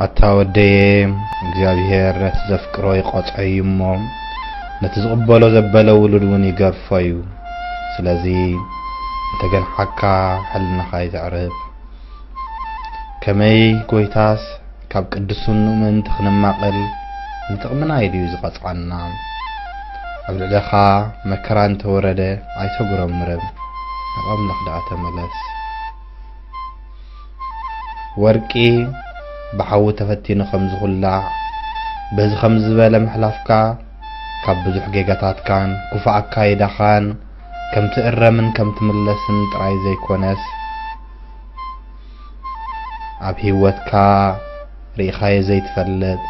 ኣታ ወደየ፣ እግዚኣብሔር ነቲ ዘፍቅሮ ይቐጽዖ እዩ እሞ፣ ነቲ ዝቕበሎ ዘበለ ውሉድ እውን ይገርፎ እዩ። ስለዚ፣ እንተ ገንሓካ፣ ሕልናኻ ይተዕርፍ። ከመይ ጐይታስ፣ ካብ ቅዱስኑ ምእንቲ ክንማቐል፣ ንጥቕምና ኢሉ እዩ ዝቐጽዓና። ኣብ ልዕለኻ መከራ እንተ ወረደ፣ ኣይተጉረምርም፣ ናብ ኣምላኽ ደኣ ተመለስ። ወርቂ ብሓዊ ተፈቲኑ ከም ዝኹላዕ፣ በዚ ከም ዝበለ ምሕላፍካ፣ ካብ ብዙሕ ጌጋታትካን ክፉእ ኣካይዳኻን ከም ትእረምን ከም ትምለስን ጥራይ ዘይኮነስ፣ ኣብ ህይወትካ ርኢኻዮ ዘይትፈልጥ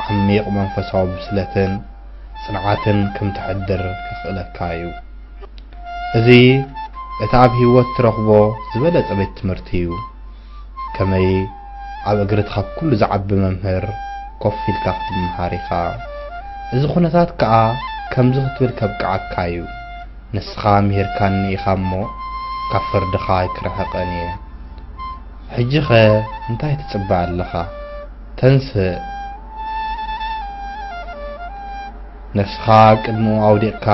ዓሚቕ መንፈሳዊ ብስለትን ጽንዓትን ከም ተሕድር ከኽእለካ እዩ። እዚ እቲ ኣብ ህይወት ትረኽቦ ዝበለጸ ቤት ትምህርቲ እዩ። ከመይ ኣብ እግሪ እቲ ካብ ኩሉ ዝዓቢ መምህር ኮፍ ኢልካ ክትመሃር ኢኻ። እዚ ኩነታት ከኣ ከምዚ ክትብል ከብቅዓካ እዩ። ንስኻ ምሂርካኒ ኢኻ እሞ፣ ካብ ፍርድኻ ኣይክርሕቕን እየ። ሕጂኸ እንታይ ትጽበ ኣለኻ? ተንስእ። ነፍስኻ ኣብ ቅድሚኡ ኣውዲቕካ፣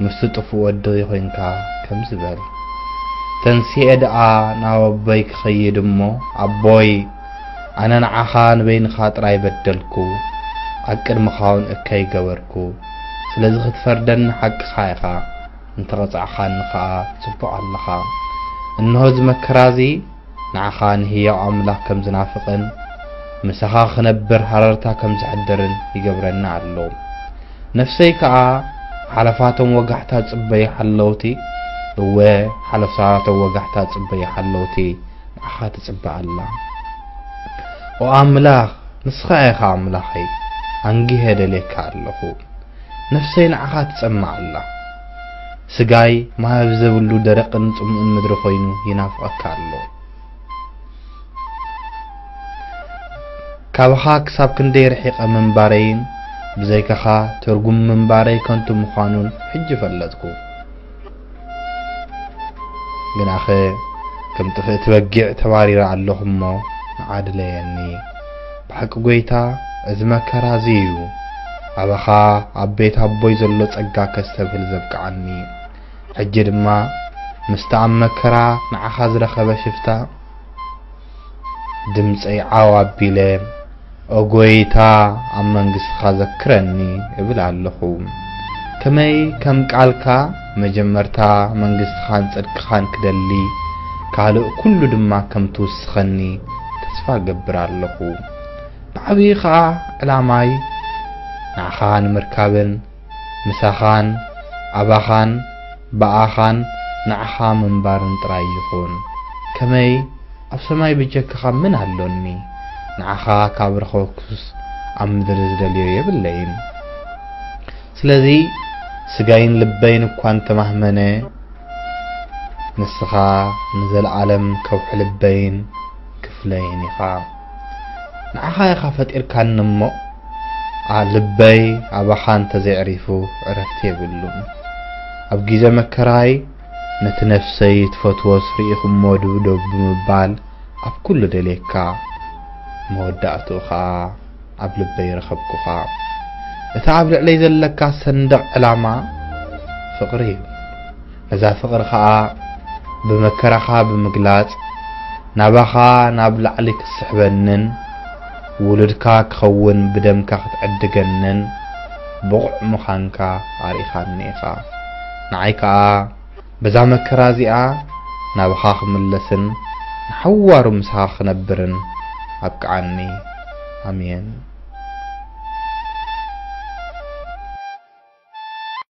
ምስቲ ጥፉእ ወዲ ኾይንካ ከምዚ በል። ተንሲኤ ደኣ ናብ ኣቦይ ክኸይድ እሞ፣ ኣቦይ፣ ኣነ ንዓኻ ንበይንኻ ጥራይ በደልኩ፣ ኣብ ቅድሚኻ እውን እከይ ገበርኩ። ስለዚ ክትፈርደኒ ሓቅኻ ኢኻ፣ እንተቐጻዕኻኒ ኸኣ ጽቡቕ ኣለኻ። እንሆ እዚ መከራ እዚ ንዓኻ ንህያው ኣምላኽ ከም ዝናፍቕን ምሳኻ ክነብር ሃረርታ ከም ዘሕድርን ይገብረኒ ኣሎ። ነፍሰይ ከኣ ሓለፋቶም ወጋሕታ ጽበይ ሓለውቲ፣ እወ፣ ሓለፋቶም ወጋሕታ ጽበይ ሓለውቲ ንዓኻ ትጽበ ኣላ። ኦ ኣምላኽ፣ ንስኻ ኢኻ ኣምላኸይ፣ ኣንጊሀ ደልየካ ኣለኹ። ነፍሰይ ንዓኻ ትጸምእ ኣላ። ስጋይ ማይ ኣብ ዘብሉ ደረቕን ጽሙእን ምድሪ ኮይኑ ይናፍቐካ ኣሎ። ካባኻ ክሳብ ክንደይ ርሒቐ ምንባረይን ብዘይካኻ ትርጉም ምንባረይ ከንቱ ምዃኑን ሕጂ ፈለጥኩ። ግናኸ ከም ጥፍእቲ በጊዕ ተባሪረ ኣለኹ እሞ ንዓ ድለየኒ። ብሓቂ ጐይታ፣ እዚ መከራ እዚ እዩ ኣባኻ ኣብ ቤት ኣቦይ ዘሎ ጸጋ ከስተብህል ዘብቅዓኒ። ሕጂ ድማ ምስቲ ኣብ መከራ ንዓኻ ዝረኸበ ሽፍታ ድምጸይ ዓው ኣቢለ፣ "ኦ ጐይታ፣ ኣብ መንግስትኻ ዘክረኒ" እብል ኣለኹ። ከመይ ከም ቃልካ መጀመርታ መንግስትኻን ጽድቅኻን ክደሊ፣ ካልእ ኩሉ ድማ ከም ትውስኸኒ ተስፋ እገብር ኣለኹ። ብዓብዪ ኸኣ ዕላማይ ንዓኻ ንምርካብን ምሳኻን ኣባኻን ብኣኻን ንዓኻ ምንባርን ጥራይ ይኹን። ከመይ ኣብ ሰማይ ብጀካኻ ምን ኣሎኒ? ንዓኻ ካብ ረኸብኩስ ኣብ ምድሪ ዝደልዮ የብለይን። ስለዚ ስጋይን ልበይን እኳ እንተማህመነ፣ ንስኻ ንዘለኣለም ከውሒ ልበይን ክፍለይን ኢኻ። ንዓኻ ኢኻ ፈጢርካኒ እሞ፣ ኣ-፣ ልበይ ኣባኻ እንተዘይዕሪፉ ዕረፍቲ የብሉን። ኣብ ግዜ መከራይ ነቲ ነፍሰይ ትፈትዎስ ርኢኹሞ ድብደቡ ብምባል ኣብ ኩሉ ደልየካ፣ መወዳእትኡ ኸኣ ኣብ ልበይ ረኸብኩኻ። እቲ ኣብ ልዕለይ ዘለካ ሰንደቕ ዕላማ ፍቕሪ እዩ። ነዛ ፍቕሪ ኸኣ ብመከራኻ ብምግላጽ፣ ናባኻ ናብ ላዕሊ ክትስሕበንን ውሉድካ ክኸውን ብደምካ ክትዕድገንን ብቑዕ ምዃንካ ኣርኢኻኒ ኢኻ። ንዓይ ከኣ በዛ መከራ እዚኣ ናባኻ ክምለስን ንሓዋሩ ምሳኻ ክነብርን ኣብቅዓኒ። ኣሜን።